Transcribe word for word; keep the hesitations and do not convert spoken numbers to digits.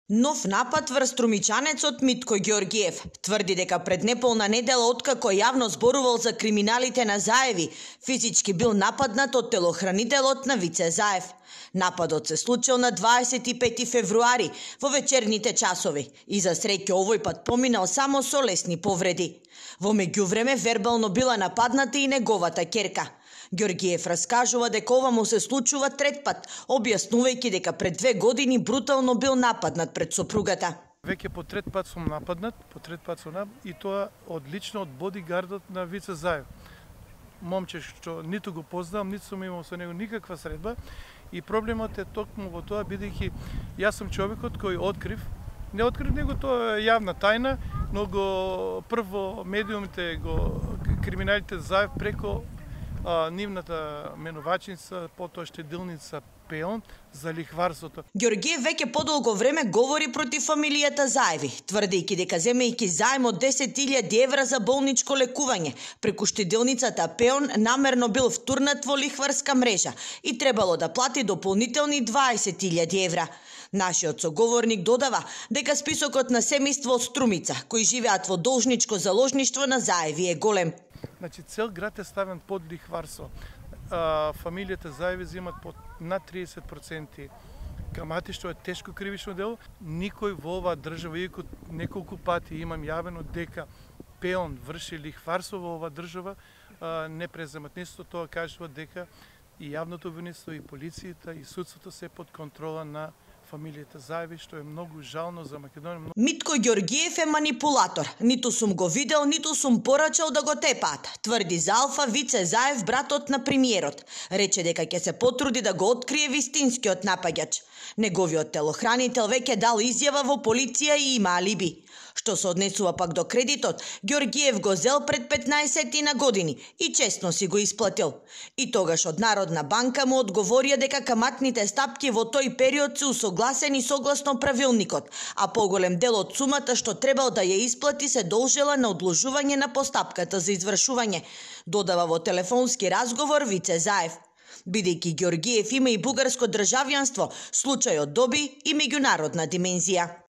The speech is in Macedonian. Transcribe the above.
Нов напад врз струмичанецот Митко Ѓорѓиев тврди дека пред неполна недела откако јавно зборувал за криминалите на Заеви, физички бил нападнат од телохранителот на Вице Заев. Нападот се случил на дваесет и пети февруари во вечерните часови и за среќа овој пат поминал само со лесни повреди. Во меѓувреме вербално била нападната и неговата ќерка. Ѓорѓиев раскажува дека ова му се случува трет пат, објаснувајќи дека пред две години брутално бил нападнат пред сопругата. Веќе по трет пат сум нападнат, по трет пат сум нападнат и тоа одлично од бодигардот на Вице Заев. Момче што ниту го познавам, ниту сум имал со него никаква средба и проблемот е токму во тоа, бидејќи јас сум човекот кој открив, не открив него, тоа е јавна тајна, но го прво медиумите го криминалите Заев преко а, нивната менувачница, потоа штедилница Пеон за лихварството. Ѓорѓиев веќе подолго време говори против фамилијата Заеви, тврдејќи дека земејќи заем од десет илјади евра за болничко лекување преку штедилницата Пеон намерно бил втурнат во лихварска мрежа и требало да плати дополнителни дваесет илјади евра. Нашиот соговорник додава дека списокот на семејство од Струмица, кои живеат во должничко заложништво на Заеви, е голем. Значи, цел град е ставен под лихварство. А, фамилијата Заеви земат под над триесет проценти камати, што е тешко кривично дело. Никој во оваа држава, иако неколку пати имам јавено дека Пеон врши лихварство во оваа држава, а, не преземат. Несто тоа кажува дека и јавното обвинство, и полицијата, и судството се под контрола на фамилијата Заеви, што е многу жално за Македонија. Митко Ѓорѓиев е манипулатор. Ниту сум го видел, ниту сум порачал да го тепаат, тврди за Алфа Вице Заев, братот на премиерот. Рече дека ќе се потруди да го открие вистинскиот напаѓач. Неговиот телохранител веќе дал изјава во полиција и има алиби. Што се однесува пак до кредитот, Ѓорѓиев го зел пред петнаесет на години и честно си го исплатил. И тогаш од Народна банка му одговорија дека каматните стапки во тој период се усогласени согласно правилникот, а поголем дел од сумата што требал да ја исплати се должела на одложување на постапката за извршување, додава во телефонски разговор Вице Заев. Бидејќи Ѓорѓиев има и бугарско државјанство, случајот доби и меѓународна димензија.